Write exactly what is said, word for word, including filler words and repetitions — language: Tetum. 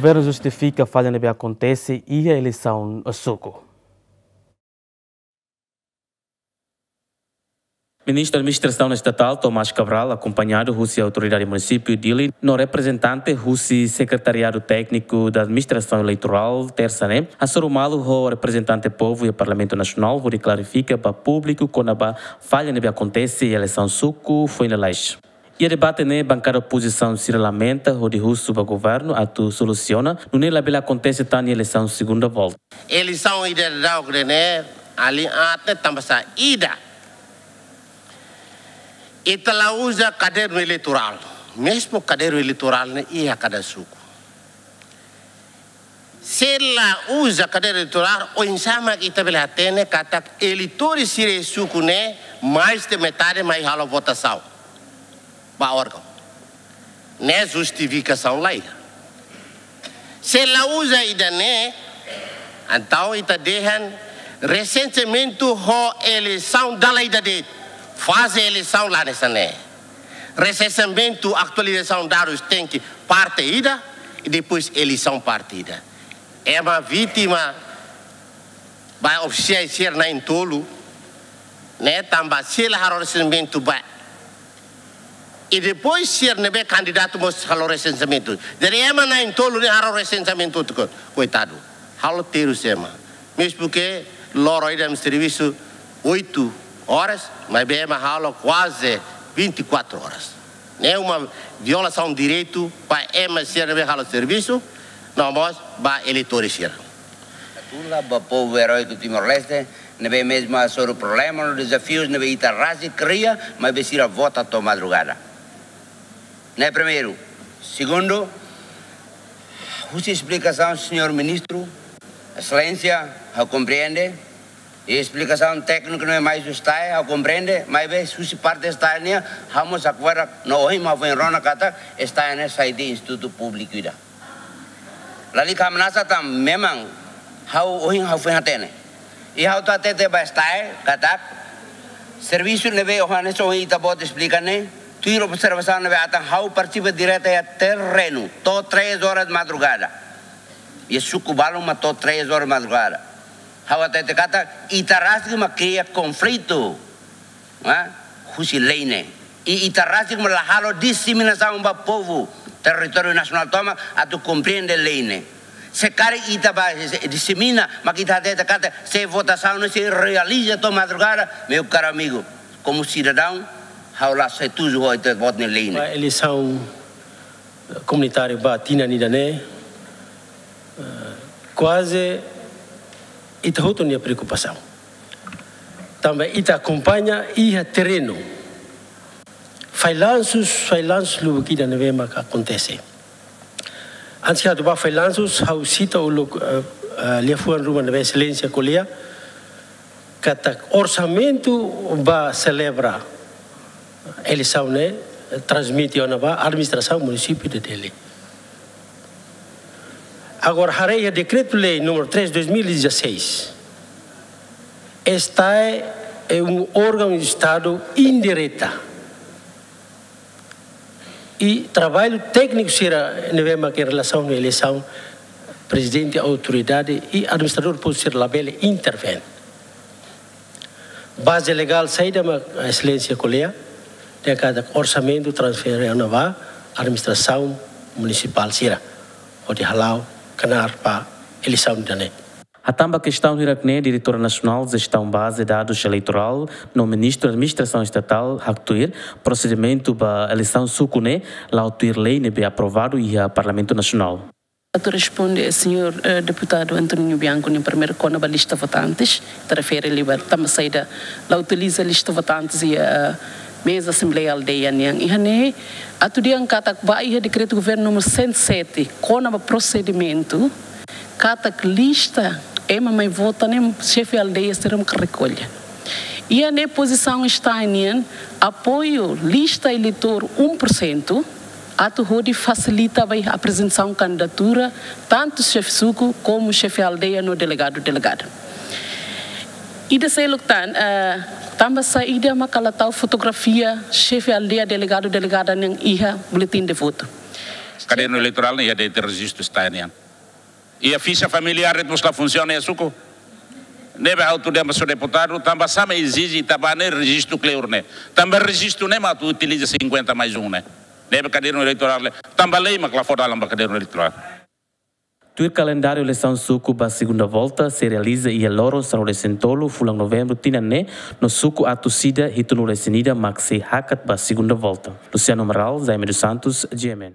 Governu justifika falla ne'ebé akontese iha eleisaun suku. Ministru Administrasaun Estatál Tomás Cabral, akompañadu husi autoridade munisípiu Dili no reprezentante husi Sekretariadu Tékniku da Administrasaun Eleitorál, tersa ne'e, hasoru malu ho reprezentante povu iha Parlamentu Nasionál hodi klarifika ba públiku kona-ba falla ne'ebé akontese iha eleisaun suku foin lalais. Iha debate ne'e, bankada opozisaun sira lamenta hodi husu ba governu atu solusiona nune'e labele akontese tan iha eleisaun segunda volta. Eleisaun ida daudauk ne'e, alin aat ne'e tanba saida? Ita la uza kadernu eleitorál. Mezmu kadernu eleitorál ne'e iha kada suku. Se la uza kadernu eleitorál, oinsá mak ita bele hatene katak eleitór sira iha suku ne'e, mais de metade mai halo votasaun ba órgaun. Ne'e justifikasaun la iha. Se la uza ida-ne'e, entaun ita dehan resenseamentu ho eleisaun dala ida de'it. Faze eleisaun la hanesan ne'e. Resenseamentu, atualizasaun dadus tenke parte ida, i depois eleisaun parte ida. Ema vítima ba ofisiais sira na'in-tolu ne'e tanba sira la halo resenseamentu ba. I depois sira ne'ebé kandidatu mós halo resenseamentu. Jadi ema na'in-tolu ne'e halo resenseamentu hotu, koitadu. Halo terus ema. Mezmu ke loron ida ema servisu oito horas, maibé ema halo kuaze vinte e quatro horas. Ne'e uma violasaun direitu ba ema sira ne'ebé halo servisu, no mós ba eleitór sira. Gratula ba povu eróiku Timor-Leste, ne'ebé mezmu hasoru problema no dezafius ne'ebé ita rasik kria, maibé sira vota to'o madrugada. Ne'e primeiru. Segundu, husi esplikasaun señór ministru, Exelénsia, ha'u komprende, i esplikasaun tékniku ne'e mai husi STAE, ha'u komprende, maibé husi parte STAE nian, ha'u mós hakfodak no ohin mak ha'u foin rona katak STAE ne'e sai de'it institutu públiku ida. Lalika hamnasa tan, memang ha'u ohin ha'u foin hatene. I ha'u atu hatete ba STAE katak servisu ne'ebé ohin hanesan ohin ita-boot esplika ne'e, tuir observasaun ne'ebé atan ha'u partisipa direta iha terrenu, to'o três horas madrugada. Iha suku balun mak to'o três horas madrugada. Ha'u hatete katak ita rasik mak kria konflitu, ah, husi lei ne'e. I ita rasik mak la halo diseminasaun ba povu territóriu nasionál tomak atu komprende lei ne'e. Se karik ita bá disemina, mak ita hatete katak se votasaun ne'e sei realiza to'o madrugada, meu caro amigo, komu sidadaun, ha'u la setuju ho ita-boot nia lei ne'e. Ba eleisaun komunitáriu ba tinan ida-ne'e, eh, kuaze ita hotu nia preokupasaun. Tanba ita akompaña iha terrenu. Fallansus, fallansus lubuk ida ne'ebé maka akontese. Antes ke atu bá fallansus, ha'u sita uluk, eh, eh, liafuan ruma ne'ebé Exelénsia ko'alia, katak orsamentu ba selebra eleisaun ne'e transmite ona ba administrasaun munisípiu de Dili. Agora, haree iha dekretu-lei número três dois mil e dezasseis, STAE é um órgão de Estado indireta. I traballu tékniku sira ne'ebé mak iha relasaun ho eleisaun, prezidente autoridade i administradór povu sira labele intervén. Baze legál saida mak Exelénsia ko'alia, dehan katak orsamentu transfere ona ba administrasaun munisipál sira, hodi hala'o knaar ba eleisaun ida-ne'e. Hatán ba kestaun hirak-ne'e, Diretora Nasionál Jestaun Baze Dadus Eleitorál no Ministru Administrasaun Estatál haktuir, prosedimentu ba eleisaun suku ne'e la'o tuir lei ne'ebé aprovadu iha Parlamentu Nasionál. Atu responde, eh, señór, eh, deputadu Antoninho Bianco nia primeiru kona-ba lista votantes, ita refere liu ba tanba saida la utiliza lista votantes iha, eh, meza asembleia aldeia nian. Iha ne'e, atu dehan katak ba iha dekretu governu número cento e sete, kona-ba prosedimentu, katak lista ema mai vota ne'e xefe aldeia sira mak rekolla. Iha ne'e pozisaun STAE nian, apoiu lista eleitór um por cento, atu hodi fasilita ba iha aprezentasaun kandidatura, tantu xefe suku, komu xefe aldeia no delegadu, delegada. Ida seluk tan, eh, tanba saida maka la tau fotografia xefe aldeia, delegadu, delegada nian iha boletin de votu. Kadernu eleitorál ne'e iha de'it rejistu STAE nian. Iha fixa familiár de'it mós la funsiona iha suku. Ne'ebé ha'u tuda ba sira deputadu, tanba sá mak ezije ita-boot ne'e rejistu kleur ne'e. Tanba rejistu ne'e mak atu utiliza cinquenta mais um ne'e. Ne'ebé kadernu eleitorál ne'e, tanba lei mak la fó dalan ba kadernu eleitorál. Tuir kalendáriu eleisaun suku ba segunda volta sei realiza iha loron sanulu-resin-tolu fulan Novembru tinan ne'e, no suku Atu Sida hitunulu-resin-ida mak sei hakat ba segunda volta. Luciano Amaral, Jaime dos Santos, G M N.